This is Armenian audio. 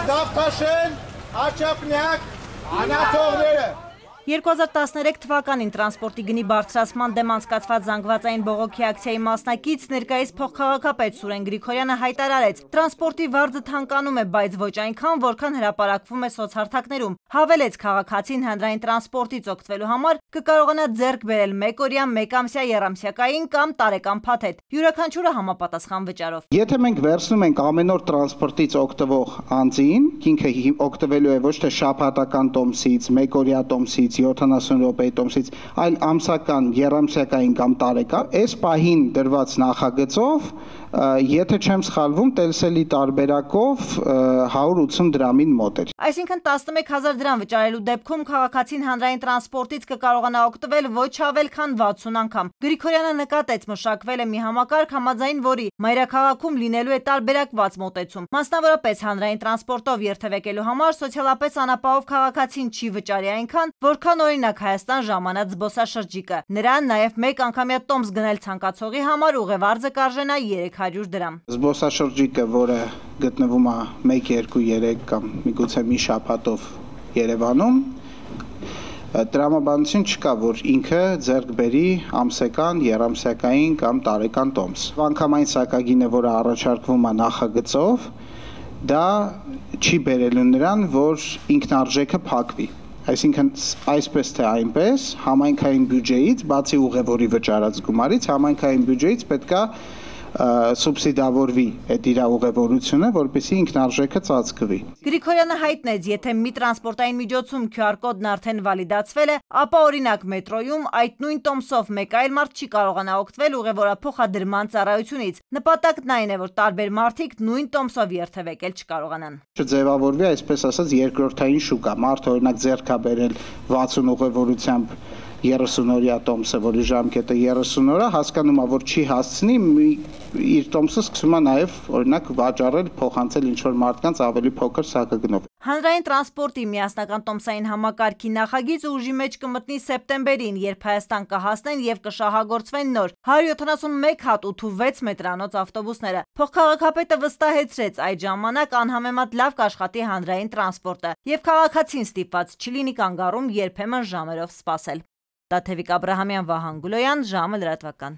Դավթաշեն, Աչափնյակ, անաթողները։ 2013 թվականին տրանսպորտի գնի բարձրացման դեմ անցկացված զանգվածային բողոքի ակցիայի մասնակից ներկայիս փոխքաղաքապետ Սուրեն Գրիգորյանը հայտարարեց. տրանսպորտի վարձը թանկանում է, բայց ոչ այնքան, որքան հրապարակվում է սոցհարթակներում։ Հավելեց, քաղաքացին հանրային տրանսպորտից օգտվելու համար կկարողանա ձեռք բերել մեկօրյա, մեկամսյա, եռամսյակային կամ տարեկան փաթեթ, յուրաքանչյուրը համապատասխան վճարով։ Եթե մենք վերցնում ենք ամեն օր տրանսպորտից օգտվող անձին, ինքը օգտվելու է ոչ թե շաբաթական տոմսից, մեկօրյա տոմսից, 70 րոպեի տոմսից, այլ ամսական, եռամսյակային կամ տարեկան, այս պահին դրված նախագծով, եթե չեմ սխալվում, տելսելի տարբերակով 180 դրամին մոտ էր։ Այսինքն 11,000 դրամ վճարելու դեպքում քաղաքացին հանրային տրանսպորտից կկարողանա օգտվել ոչ ավել քան 60 անգամ։ Գրիգորյանը նկատեց, մշակվել է մի համակարգ, համաձայն որի մայրաքաղաքում լինելու է տարբերակված մոտեցում։ Մասնավորապես հանրային տրանսպորտով երթևեկելու համար սոցիալապես անապահով քաղաքացին չի վճարի այնքան, որքան օրինակ Հայաստան ժամանած զբոսաշրջիկը։ Նրան նաև մեկ անգամյա տոմս գնել ցանկացողի համար ուղևարձը կարժենա 300 դրամ։ Զբոսաշրջիկը, որը գտնվում է 1, 2, 3 կամ միգուցե մի շաբաթով Երևանում, տրամաբանություն չկա, որ ինքը ձեռք բերի ամսական, եռամսյակային կամ տարեկան տոմս։ Անգամային սակագինը, որը առաջարկվում է նախագծով, դա չի բերելու նրան, որ ինքնարժեքը փակվի։ Այսինքն այսպես թե այնպես համայնքային բյուջեից, բացի ուղևորի վճարած գումարից, համայնքային բյուջեից պետքա սուբսիդավորվի այդ իր ուղևորությունը, որպեսզի ինքնարժեքը ծածկվի։ Գրիգորյանը հայտնեց, եթե մի տրանսպորտային միջոցում QR կոդն արդեն վալիդացվել է, ապա օրինակ մետրոյում այդ նույն տոմսով մեկ այլ մարդ չի կարողանա օգտվել ուղևորափոխադրման ծառայությունից։ Նպատակն այն է, որ տարբեր մարդիկ նույն տոմսով երթևեկել չկարողանան։ Չձևավորվի, այսպես ասած, երկրորդային շուկա։ Մարդը օրինակ ձեռք է բերել 60 ուղևորությամբ 30-օրյա տոմսը, որի ժամկետը 30 օր է, հասկանում է, որ չի հասցնի, իր տոմսը սկսում է նաև օրինակ վաճառել, փոխանցել ինչ-որ մարդկանց ավելի փոքր սակագնով։ Հանրային տրանսպորտի միասնական տոմսային համակարգի նախագիծը ուժի մեջ կմտնի սեպտեմբերին, երբ Հայաստան կհասնեն եւ կշահագործվեն նոր 171 հատ 8-6 մետրանոց ավտոբուսները։ Փոխքաղաքապետը վստահեցրեց, այդ ժամանակ անհամեմատ լավ կաշխատի հանրային տրանսպորտը եւ քաղաքացին ստիպված չլինի կանգառում երբեմն ժամերով սպասել։ Տաթևիկ Աբրահամյան, Վահան Գուլոյան, ժամը լրատվական։